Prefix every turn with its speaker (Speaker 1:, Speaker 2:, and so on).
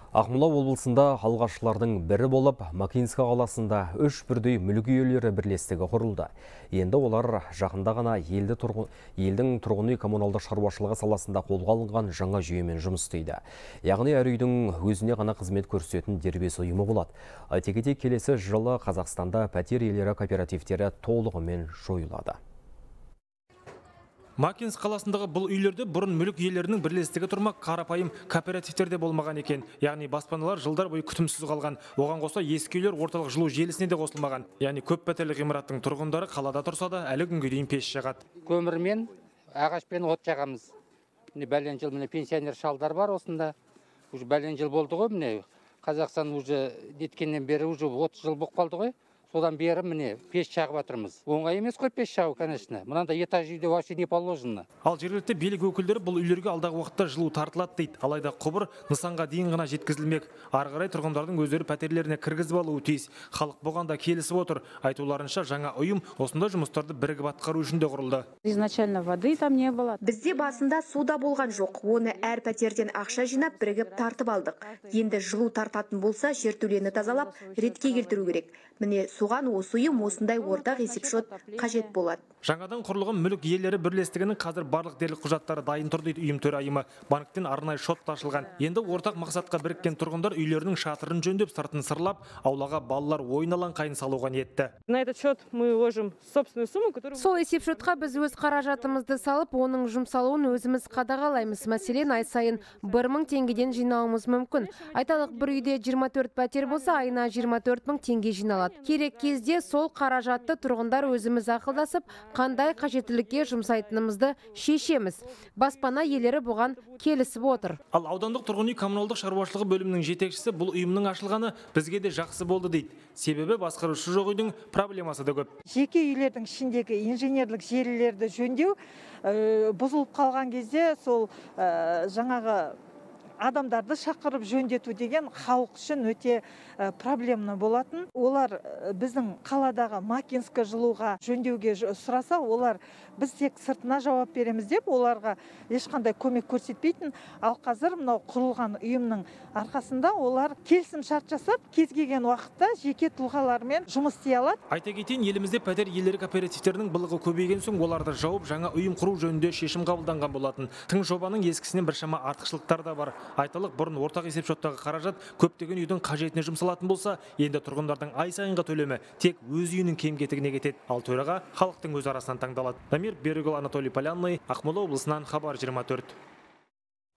Speaker 1: Ақмола облысында алғашқылардың бірі болып, Макинска қаласында 3 бірдей мүлік иелері бірлестігі құрылды. Енді олар жақында ғана елдің тұрғын үй коммуналдық шаруашылығы саласында қолға алынған жаңа жүйемен жұмыс істейді. Яғни әр үйдің өзіне ғана қызмет көрсететін дербес ұйымы болады. Айта кетейік, келесі жылы Қазақстанда пәтер иелері кооперативтері толығымен жойылады.
Speaker 2: Макинск қаласындағы бұл үйлерде бұрын мүлік иелерінің бірлестігі тұрмақ, қарапайым кооперативтерде болмаған екен. Яғни баспаналар жылдар бойы күтімсіз қалған. Оған қоса ескі үйлер орталық жылу желісіне де қосылмаған. Яғни көп пәтерлі ғимараттың тұрғындары қалада тұрса да әлі күнге дейін пеш жағады.
Speaker 3: Көмірмен, ағашпен от жағамыз. Міне бәлен жыл пенсионер шалдар бар осында. Уже бәлен жыл болды ғой, міне Қазақстан уже неткеннен бері уже 30 жыл болып қалды ғой. Содан бері міне пеш жағып жатырмыз. Оңай емес қой пеш жағу, конечно. Мынандай этаж үйде вообще не положено.
Speaker 2: Ал жергілікті билік өкілдері бұл үйлерге алдағы уақытта жылу тартылады дейді. Алайда құбыр нысанға дейін ғана жеткізілмек. Ары қарай тұрғындардың өздері пәтерлеріне кіргізіп алуы тиіс. Халық бұған да келісіп отыр. Айтуларынша жаңа ұйым осындай жұмыстарды бірігіп атқару үшін де құрылды.
Speaker 4: Изначально воды там не было.
Speaker 5: Бізде басында суда болған жоқ. Оны әр пәтерден ақша жинап бірігіп тартып алдық. Енді жылу тартатын болса, жертөлені тазалап, ретке келтіру керек. Міне соған осы ұйым осындай ортақ есепшот қажет болады.
Speaker 2: Жаңадан құрылған мүлік иелері бірлестігінің қазір барлық дерлік құжаттары дайын тұр дейді ұйым төрайымы. Банктен арнайы шот ашылған. Енді ортақ мақсатқа біріккен тұрғындар үйлерінің шатырын жөндеп, сыртын сырлап, аулаға балалар ойын алаңқайын салуға ниетті.
Speaker 4: На этот счет мы ложим собственную сумму, которую...
Speaker 6: Сол есепшотқа біз өз қаражатымызды салып, оның жұмсалуын өзіміз қадағалаймыз. Мәселен, ай сайын 1000 теңгеден жинауымыз мүмкін. Айталық, бір үйде 24 пәтер болса, айына 24 000 теңге жиналады. Керек кезде сол қаражатты тұрғындар өзіміз ақылдасып, қандай қажеттілікке жұмсайтынымызды шешеміз. Баспана иелері бұған келісіп отыр.
Speaker 2: Ал аудандық тұрғын үй коммуналдық шаруашылығы бөлімінің жетекшісі бұл ұйымның ашылғаны бізге де жақсы болды дейді. Себебі басқарушы жоқ үйдің проблемасы да көп.
Speaker 7: Жеке үйлердің ішіндегі инженерлік желілерді жөндеу бұзылып қалған кезде сол жаңағы адамдарды шақырып жөндету деген халық үшін өте проблемны болатын. Олар біздің қаладағы Макинска жылуға жөндеуге сұраса, олар біз тек сыртына жауап береміз деп, оларға ешқандай көмек көрсетпейтін. Ал қазір мынау құрылған ұйымның арқасында олар келісім шарт жасап, кез келген уақытта жеке тұлғалармен жұмыс істей алады.
Speaker 2: Айта кетейін, елімізде пәтер иелері кооперативтерінің былығы көбейген соң оларды жауып, жаңа ұйым құру жөнінде шешім қабылданған болатын. Тың жобаның ескісінен біршама артықшылықтар да бар. Айталық, бұрын ортақ есепшоттағы қаражат көптеген үйдің қажетіне жұмсалатын болса, енді тұрғындардың ай сайынғы төлемі тек өз үйінің кем-кетігіне кетеді. Ал төраға халықтың өз арасынан таңдалады. Дамир Берікұлы, Анатолий Полянный, Ақмола облысынан, Хабар 24.